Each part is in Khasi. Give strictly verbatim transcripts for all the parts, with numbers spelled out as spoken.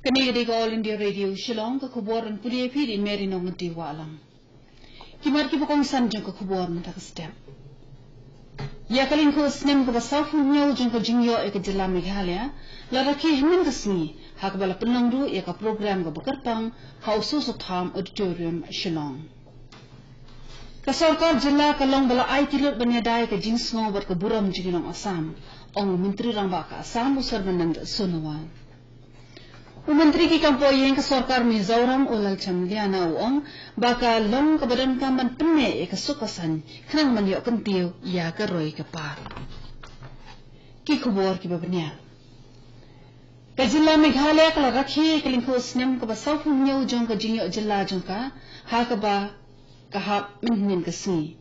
Kane ka dei ka All India Radio Shillong, ka khubor ban pule ïa phi da i Mary Nongti Wahlang. Ki mat kiba kongsan jong ka khubor mynta ka step. Ïa ka lyngkhuh snem kaba sawphew hynñiew jong ka jingïoh ïa ka jylla Meghalaya la rakhe hynnin ka sngi, ha kaba la pynlong ruh ïa ka program kaba kyrpang ha u Soso Tham Auditorium, Shillong. Ka sorkar jylla ka long ba la aiti lut ban ïada ïa ka jingsngew bad ka burom jong ki nong Assam, ong u Myntri Rangbah ka Assam, u Sarbanand Sonowal. U Myntri ki kam poh ïing ka sorkar Mizoram, u Lalcham Liana, u ong ba ka long kaba donkam ban pynneh ïa ka suk ka saiñ khnang ban ïoh kyntiew ïa ka roi ka par. Ki khubor kiba bniah. Ka jylla Meghalaya ka la rakhe ïa ka lyngkhuh snem kaba sawphew hynñiew jong ka jingïoh jylla jong ka, ha kaba ka hap mynhynnin ka sngi.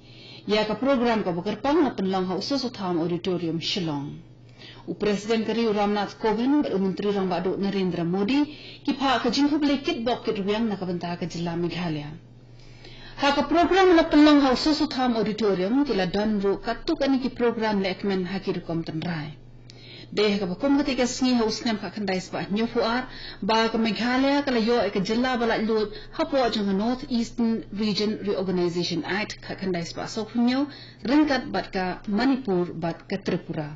Ïa ka program kaba kyrpang la pynlong ha u Soso Tham Auditorium, Shillong. U President ka ri, u Ramnath Kovind, bad u Myntri Rangbah Duh, Narendra Modi, ki phah ka jingkhublei kitbok kitrwiang na ka bynta ka jylla Meghalaya. Ha ka program la pynlong ha u Soso Tham Auditorium, ki la don ruh katto katne ki program lehkmen ha ki rukom tynrai. Dei ha kaba kum katei ka sngi ha u snem khatkhyndai spah hynñiewphew ar ba ka Meghalaya ka la ïoh ïa ka jylla ba laitluid hapoh jong ka North Eastern Region Reorganization Act khatkhyndai spah sawphew hynñiew, ryngkat bad ka Manipur bad ka Tripura.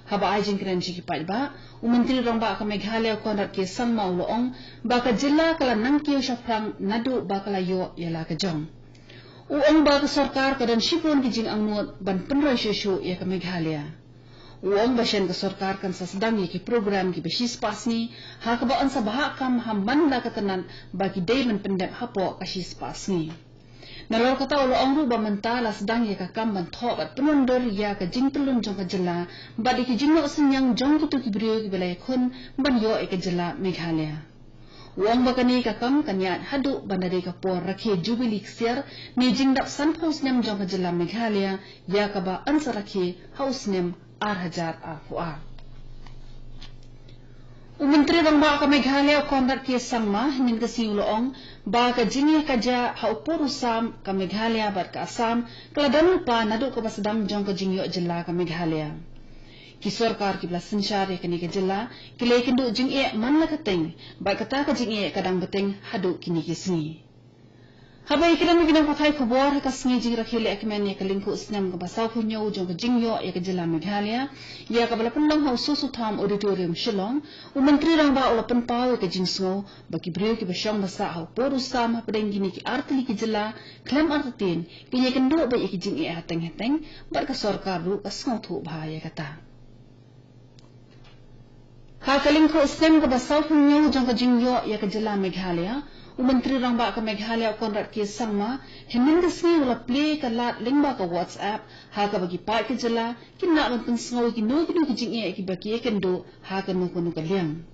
Haba ai jingkren sha ki paidbah, u Myntri Rangbah ka Meghalaya, u Conrad K Sangma, u la ong ba ka jylla ka la nang kiew shaphrang naduh ba ka la ïoh ïa la ka jong. U ong ba ka sorkar ka don shibun ki jingangnud ban pynroi shuh shuh ïa ka Meghalaya. U ong ba shen ka sorkar kan sa sdang ïa ki program kiba shispah sngi, ha kaba yn sa bhah kam ha man la ka tnat ba ki dei ban pyndep hapoh ka shispah sngi. Nalor kata, u la ong ruh ba mynta la sdang ïa ka kam ban thoh bad pynwandur ïa ka jingtyllun jong ka jylla bad ïa ki jingnoh synñiang jong kito ki briew kiba la ïakhun ban ïoh ïa ka jylla Meghalaya. U ong ba kane ka kam kan ïaid haduh ban da dei ka por rakhe Jubili Ksiar ne jingdap sanphew snem jong ka jylla Meghalaya, ïa kaba yn sa rakhe ha u snem ar hajar arphew ar. U Myntri Rangbah ka Meghalaya, u Conrad K Sangma, hynnin ka sngi u la ong ba ka jingïakajia ha u por u sam ka Meghalaya bad ka Assam ka la don lypa naduh kaba sdang jong ka jingïoh jylla ka Meghalaya. Ki sorkar kiba la synshar ïa kane ka jylla ki la ïakynduh jingeh man la ka teng, bad kata ka jingeh ka dang bteng haduh kine ki sngi. Haba ïakren bad ki nongpathai khubor ha ka sngi jingrakhe lehkmen ïa ka lyngkhuh snem kaba sawphew hynñiew jong ka jingïoh ïa ka jylla Meghalaya, ïa kaba la pynlong ha u Soso Tham Auditorium, Shillong, u Myntri Rangbah u la pynpaw ïa ka jingsngew ba ki briew kiba shong ba sah ha u por u sam hapdeng kine ki artylli ki jylla khlem artatien kin ïakynduh beit ïa ki jingeh hateng hateng, bad ka sorkar ruh ka sngewthuh bha ïa kata. Ha ka lyngkhuh snem kaba sawphew hynñiew jong ka jingïoh ïa ka jylla Meghalaya, u Myntri Rangbah ka Meghalaya, u Conrad K Sangma, hynnin ka sngi u la plie ka lad lyngba ka WhatsApp, ha kaba ki paid ka jylla kin lah ban pynsngew ïa kino kino ki jingeh kiba ki ïakynduh ha kano kano ka liang.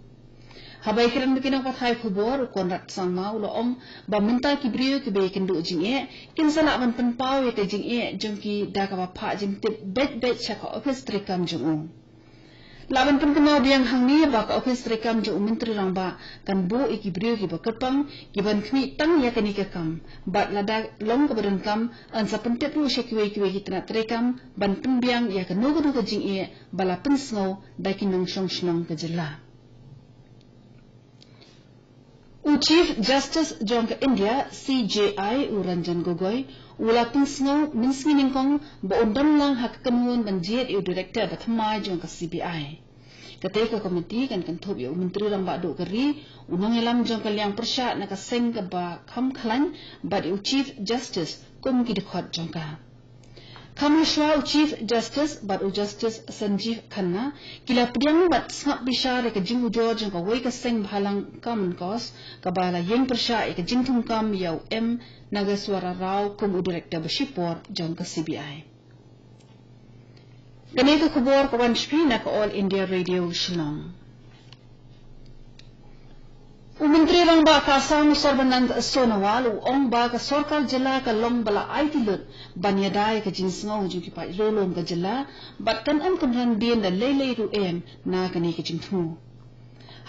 Haba ïakren bad ki nongpathai khubor, u Conrad Sangma u la ong ba mynta ki briew kiba ïakynduh jingeh kin sa lah ban pynpaw ïa ka jingeh jong ki da kaba phah jingtip beit beit sha ka ophis treikam jong u. Lah ban pynkynmaw biang hangne ba ka ophis treikam jong u Myntri Rangbah kan buh ïa ki briew kiba kyrpang kiban khmih tang ïa kane ka kam, bad lada long kaba donkam, yn sa pyntip ruh sha kiwei kiwei ki tnat treikam ban pynbiang ïa kano kano ka jingeh ba la pynsngew da ki nongshong shnong ka jylla. U Chief Justice jong ka India, C J I, u Ranjan Gogoi, u la pynsngew mynsngi nyngkong ba un don lang ha ka kynhun ban jied ïa u Director ba thymmai jong ka C B I. Katei ka komiti kan kynthup ïa u Myntri Rangbah Duh ka ri, u nongïalam jong ka liang pyrshah na ka seng kaba kham khlaiñ, bad ïa u Chief Justice kum ki dkhot jong ka. Kham hashwa, u Chief Justice bad u Justice Sanjeev Khanna ki la pdiang bad sngap bishar ïa ka jingujor jong kawei ka seng bhalang Common Cause, kaba la ïeng pyrshah ïa ka jingthungkam ïa u M Nageswara Rao kum u Director ba shipor jong ka C B I. Kane ka khubor ka wan sha phi na ka All India Radio Shillong. U Myntri Rangbah ka Assam, u Sarbanand Sonowal, u ong ba ka sorkar jylla ka long ba la aiti lut ban ïada ïa ka jingsngew jong ki paid riewlum ka jylla, bad kan ym kynran dien da lei lei ruh em na kane ka jingthmu.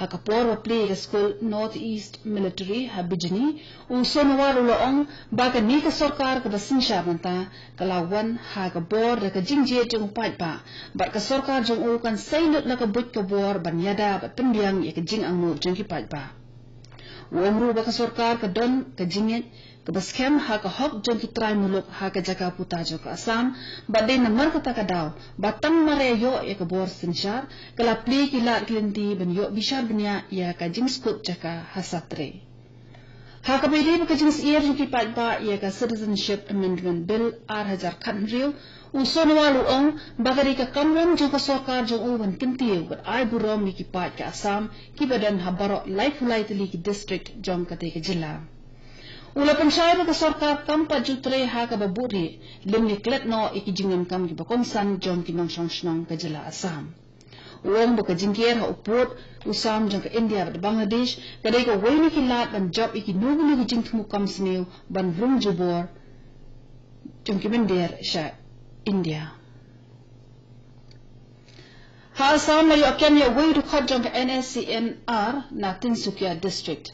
Ha ka por ba plie ïa ka skul North East Military ha Bijni, u Sonowal u la ong ba kane ka sorkar kaba synshar mynta ka la wan ha ka bor da ka jingjied jong u paidbah, bad ka sorkar jong u kan sei lut la ka buit ka bor ban ïada bad pynbiang ïa ka jingangnud jong ki paidbah. U ong ruh ba ka sorkar ka don ka jingngeit kaba skhem ha ka hok jong ki trai muluk ha ka jaka puta jong ka Assam, bad dei namar kata ka daw ba tang mar ïa ïoh ïa ka bor synshar ka la plie ki lad ki lynti ban ïoh bishar bniah ïa ka jingsngewthuh jaka ha Satre. Ha kaba ïadei bad ka jingsyier jong ki paidbah ïa ka Citizenship Amendment Bill ar hajar khathynriew, u Sonowal u ong ba ka dei ka kamram jong ka sorkar jong u ban kyntiew bad ai burom ïa ki paid ka Assam kiba don ha baroh laiphew lai tylli ki district jong katei ka jylla. U la pynshai ba ka sorkar kam pat ju trei ha kaba buhrieh, lymne klet noh ïa ki jingdonkam kiba kongsan jong ki nongshong shnong ka jylla Assam. U ong ba ka jingker ha u pud u sam jong ka India bad Bangladesh ka dei kawei na ki lad ban jop ïa kino kino ki jingthmu kam sniew ban rung jubor jong ki mynder sha India. Ha Assam la ïoh kem ïa uwei u dkhot jong ka N S C N R na Tinsukia District.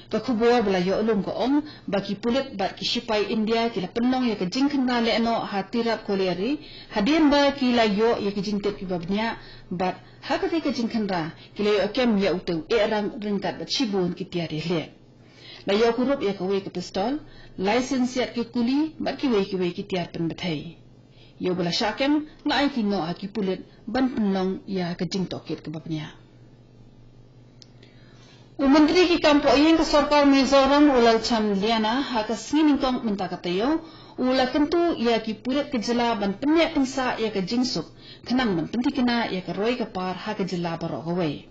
Ka khubor ba la ïoh lum ka ong ba ki pulit bad ki shipai India ki la pynlong ïa ka jingkhynra lehnoh ha Tirap Colliery, hadien ba ki la ïoh ïa ka jingtip kiba bniah, bad ha katei ka jingkhynra ki la ïoh kem ïa utei u ehrang ryngkat bad shibun ki tiar ïaleh. La ïoh kurup ïa kawei ka pistol, lai sien siat ki kuli bad kiwei kiwei ki tiar pynbthei. Ïa uba la shah kem la aiti noh ha ki pulit ban pynlong ïa ka jingtohkit kaba bniah. U Myntri ki kam pohïing ka sorkar Mizoram u Lalcham Liana ha ka sngi nyngkong mynta ka taïew u la kyntu ïa ki pulit ka jylla ban pynïaid pynsah ïa ka jingsuk khnang ban pynthikna ïa ka roi ka par ha ka jylla baroh kawei.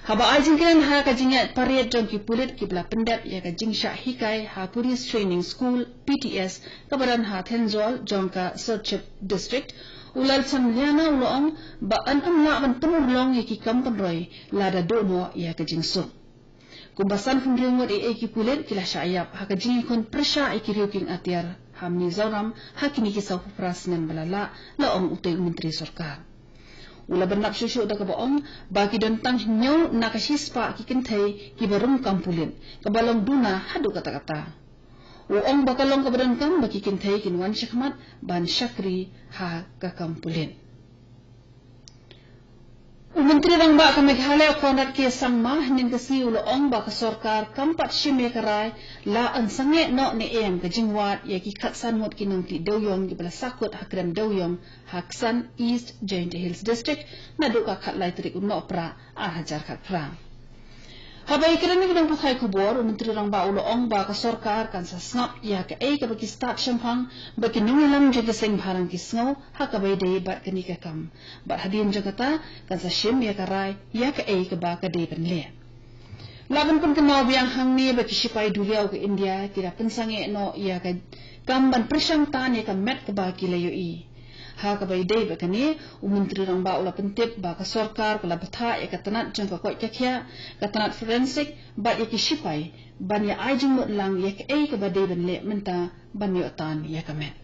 Haba ai jingkren ha ka jingïaid parade jong ki pulit kiba la pyndep ïa ka jingshah hikai ha Police Training School, P T S, kaba don ha Thenjol jong ka Serchhip District, u Lalcham Liana u la ong ba yn ym lah ban pynurlong ïa ki kam pynroi lada duh noh ïa ka jingsuk. Kumba sanphew hynriew ngut eiei ki pulit ki la shah ïap ha ka jingïakhun pyrshah ïa ki riew kieng atiar ha Mizoram ha kine ki sawphew phra snem ba la lah, la ong utei u myntri sorkar. U la bynrap shuh shuh da kaba ong ba ki don tang hynñiew na ka shispah ki kynthei kiba rung kam pulit, kaba long duna haduh katta katta. U ong ba ka long kaba donkam ba ki kynthei kin wan shakhmat ban shakri ha ka kam pulit. U Myntri Rangbah ka Meghalaya u Conrad K Sangma hynnin ka sngi u la ong ba ka sorkar kam pat shim ïa ka rai la yn sangeh noh ne em ka jingwad ïa ki khatsan ngut ki nongtih dewïong kiba la sahkut ha kren dewïong ha Ksan, East Jaintia Hills District, naduh ka khatlai tarik u Nohprah ar hajar khatphra. Haba ïakren ïa ki nongpathai khubor, u Myntri Rangbah u la ong ba ka sorkar kan sa sngap ïa kaei kaba ki stad shemphang ba ki nongïalam jong ki seng bhalang ki sngew ha kaba ïadei bad kane ka kam. Bad hadien jong kata kan sa shim ïa ka rai ïa kaei kaba ka dei ban leh. La ban pynkynmaw biang hangne ba ki shipai duriaw ka India ki la pynsangeh noh ïa ka kam ban pyrshang tan ïa ka met kaba ki la ïohi. Ha kaba ïadei bad kane, u Myntri Rangbah u la pyntip ba ka sorkar ka la bthah ïa ka tnat jong ka koit ka khiah, ka tnat forensic bad ïa ki shipai ban ïa ai jingmut lang ïa kaei kaba dei ban leh mynta ban ïoh tan ïa ka met.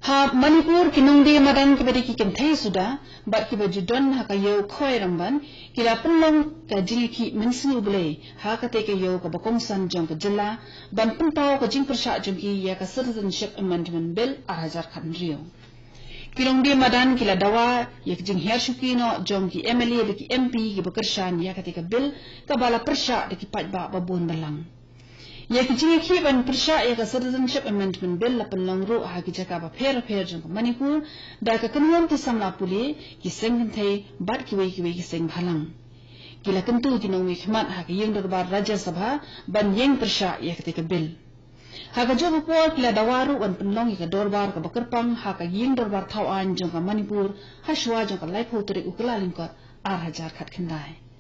Ha Manipur, ki nongdie madan kiba dei ki kynthei suda bad kiba ju don ha ka ïew Khoi Ramban ki la pynlong ka jingïakhih mynsngi U Blei ha katei ka ïew kaba kongsan jong ka jylla ban pynpaw ka jingpyrshah jong ki ïa ka Citizenship Amendment Bill ar hajar khathynriew. Ki nongdie madan ki la dawa ïa ka jinghiar shuki noh jong ki M L A bad ki M P kiba kyrshan ïa katei ka bill kaba la pyrshah da ki paidbah babun balang. Ïa ka jingïakhih ban pyrshah ïa ka Citizenship Amendment Bill la pynlong ruh ha ki jaka bapher bapher jong ka Manipur da ka kynhun ki samla pule, ki seng kynthei bad kiwei kiwei ki seng bhalang. Ki la kyntu ki nongmihkhmat ha ka ïing dorbar Rajya Sabha ban ïeng pyrshah ïa katei ka bill. Ha kajuh ka por ki la dawa ruh ban pynlong ïa ka dorbar kaba kyrpang ha ka ïing dorbar thaw aiñ jong ka Manipur ha shuwa jong ka laiphew tarik u Kyllalyngkot ar hajar khatkhyndai.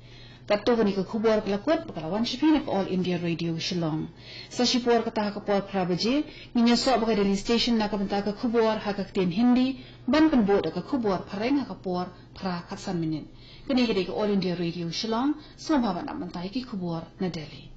Katto kane ka khubor ka la kut bad ka la wan sha phi na ka All India Radio Shillong. Sa shipor kata ha ka por phra baje ngin ïasoh bad ka Delhi Station na ka bynta ka khubor ha ka ktien Hindi, ban pynbud da ka khubor phareng ha ka por phra khatsan minit. Kane ka dei ka All India Radio Shillong, sngewbha ban ap mynta ïa ki khubor na Delhi.